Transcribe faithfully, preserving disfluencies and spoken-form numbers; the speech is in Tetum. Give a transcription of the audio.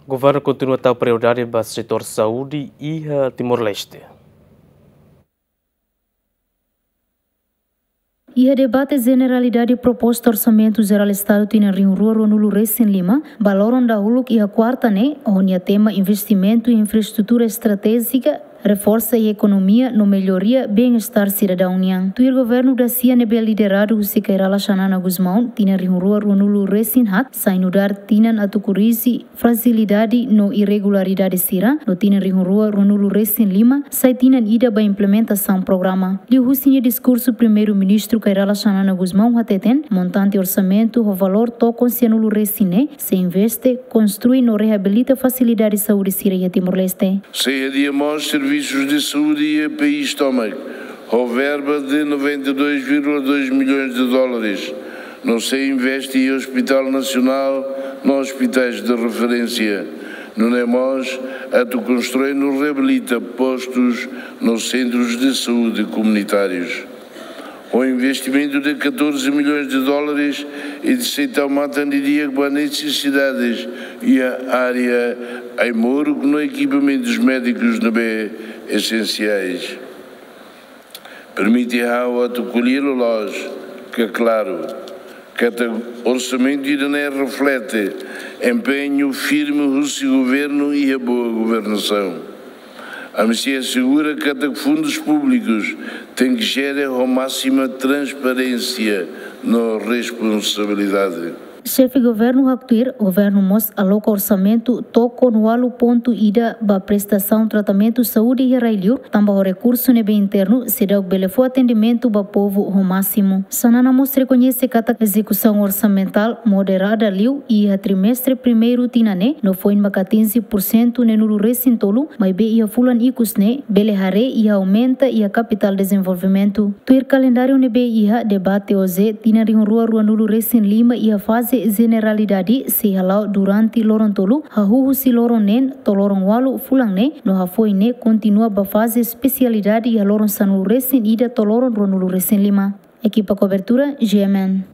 Governu kontinua tau prioridade ba setór saúde iha Timor-Leste. Iha debate jeneralidade proposta Orsamentu Jerál Estadu tinan rihun rua ruanulu resin lima, ba loron dahuluk iha kuarta ne'e, ho nia tema investimentu iha infraestrutura estratéjika, reforsa iha ekonomia no melloria bem-estar sidadaun nian. Tuir governu dasia ne'ebé lideradu husi Kay Rala Xanana Gusmão, tinan rihun rua ruanulu resin haat, sai nu'udar tinan atu korrije frajilidade no irregularidade sira, no tinan rihun rua ruanulu resin lima, sai tinan ida ba implementasaun programa. Liuhusi nia diskursu, Primeiru-Ministru Kay Rala Xanana Gusmão hateten, montante orsamentu ho valór tokon sianulu resin ne'e, sei investe, konstrui no reabilita fasilidade saúde sira iha Timor-Leste. Sei hadi'a mós servisus de saúde iha país tomak, ho verba de noventa e dois vírgula dois milhões de dólares, no sei investe iha Hospital Nasionál no ospitais de referência. Nune'e mós atu konstrui no reabilita postus no sentrus de saúde komunitárius. Ho investimentu de catorze milhões de dólares, ita sei tau matan di'ak ba nesesidades iha área ai-moruk no ekipamentus médikus ne'ebé esensiais. Permite ha'u atu ko'alia loloos, ke klaru, katak orsamentu ida-ne'e reflete empeñu firme husi governu iha boa governasaun. Ami sei asegura katak fundus públikus tenke jere ho másima transparénsia no responsabilidade. Xefe governu haktuir, governu mós aloka orsamentu tokon ualu pontu ida ba prestasaun tratamentu saúde iha rai-li'ur, tanba ho rekursu ne'ebé internu, seidauk bele fó atendimentu ba povu ho másimu. Xanana mós rekoñese katak ezekusaun orsamentál moderada liu iha trimestre primeiru tinan ne'e, no foin maka atinje pursentu neenulu resin tolu, maibé iha fulan ikus ne'e, bele haree iha aumenta iha kapitál dezenvolvimentu. Tuir kalendáriu ne'ebé iha debate hoje, tinan rihun rua ruanulu resin lima iha faze jeneralidade sei hala'o durante loron tolu, hahú husi loron neen to'o loron ualu fulan ne'e, no hafoin ne'e kontinua ba faze espesialidade iha loron sanulu resin ida to'o loron ruanulu resin lima. Ekipa kobertura, G M N.